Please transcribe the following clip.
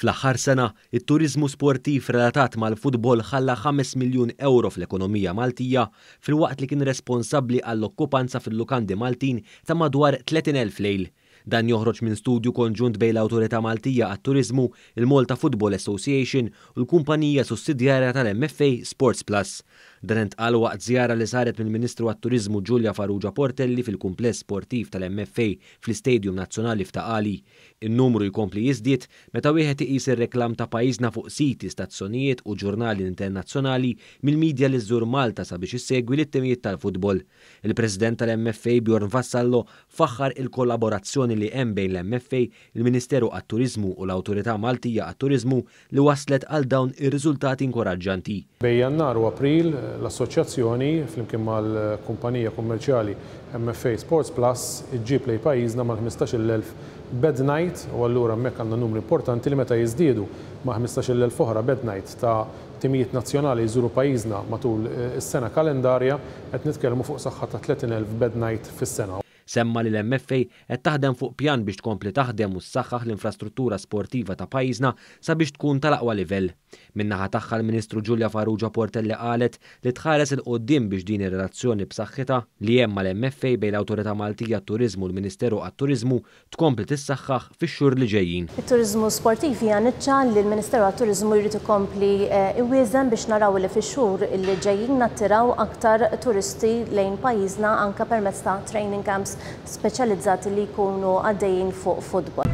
Fl-aħħar sena, it-turiżmu sportiv relatat mal-futbol ħalla 5 miljun ewro fl-ekonomija Maltija filwaqt li kien responsabbli għall-okkupanza fil-lukandi Maltin ta' madwar 30,000 lejl. Dan joħroġ minn studju konġunt bejn l-Awtorità Maltija għat-Turiżmu, il-Malta Football Association u l-kumpanija sussidjarja tal-MFA Sports Plus. Dan intqal waqt żjara li saret mill-Ministru għat-Turiżmu Julia Farrugia Portelli fil-kumpless sportiv tal-MFA fl-Istadium Nazzjonali f'Ta' Qali. In-numru jkompli jiżdied meta wieħed iqis ir-reklam ta' pajjiżna fuq siti, stazzjonijiet u ġurnali internazzjonali mill-media li żżur Malta sabiex issegwi lit-timijiet tal-futbol. Il-President tal-MFA Bjorn Vassallo faħħar il-kollaborazzjoni li hemm bejn l-MFA, il-Ministeru għat-Turiżmu u l-Awtorità Maltija għat-Turiżmu li wasslet għal dawn ir-riżultati inkoraġġanti. Bejn Jannar u April, l-Assoċjazzjoni, flimkien mal-kumpanija kummerċjali MFA Sports Plus, iġġib lejn pajjiżna mal-15,000 bed night u allura hemmhekk għandna numri importanti li meta jiżdiedu ma' 15,000 oħra bed night ta' timijiet nazzjonali jżuru pajjiżna matul is-sena kalendarja, qed nitkellmu fuq saħħa ta' 30,000 bed night fis-sena. Semma li l-MFA qed taħdem fuq pjan biex tkompli taħdem u ssaħħaħ l-infrastruttura sportiva ta' pajjiżna sabiex tkun tal-aqwa livell. Min-naħa tagħha l-Ministru Julia Farrugia Portelli qalet li tħares 'il quddiem biex din ir-relazzjoni b'saħħitha li hemm mal-MFA bejn l-Awtorità Maltija għat-Turiżmu u l-Ministeru għat-Turiżmu tkompli tissaħħaħ fix-xhur li ġejjin. It-turiżmu sportiv hija niċċa li l-Ministeru għat-Turiżmu jrid ikompli iwieżen biex naraw li fix-xhur li ġejjin nattiraw aktar turisti lejn pajjiżna anke permezz ta' training camps speċjalizzati li jkunu għaddejjin fuq futbol.